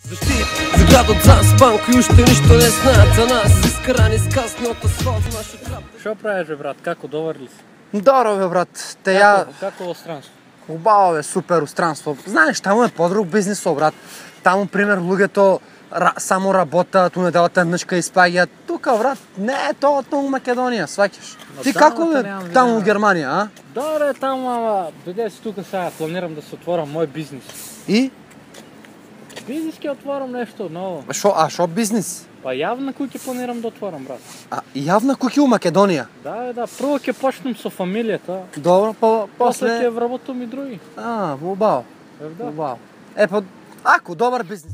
Защит за градот заспан, кој уште ништо не знаат за нас. Искрани скасни од асфалт нашиот рап. Што правиш бе брат, како доварли си? Добро бе брат, те ја... Како во странство? Убаво бе, супер устранство. Знаеш, таму е подруг бизнисо, брат. Таму, пример, луѓето само работат, у неделата нишка испаѓаат. Тука, брат, не е тоа у Македонија, сваќаш. Ти како бе таму у Германија, а? Добре, таму, ама бидејќи си тука сега планирам да се отворам мој бизнис. И? Бизнис ќе отворам нешто ново. Шо бизнис? Па јавна куќа планирам да отворам, брат. А јавна куќа у Македонија? Да, прво ќе почнем со фамилијата. Добро, После после... ќе вработам и други. Убаво. Да. Убаво. Па, ако, добар бизнис.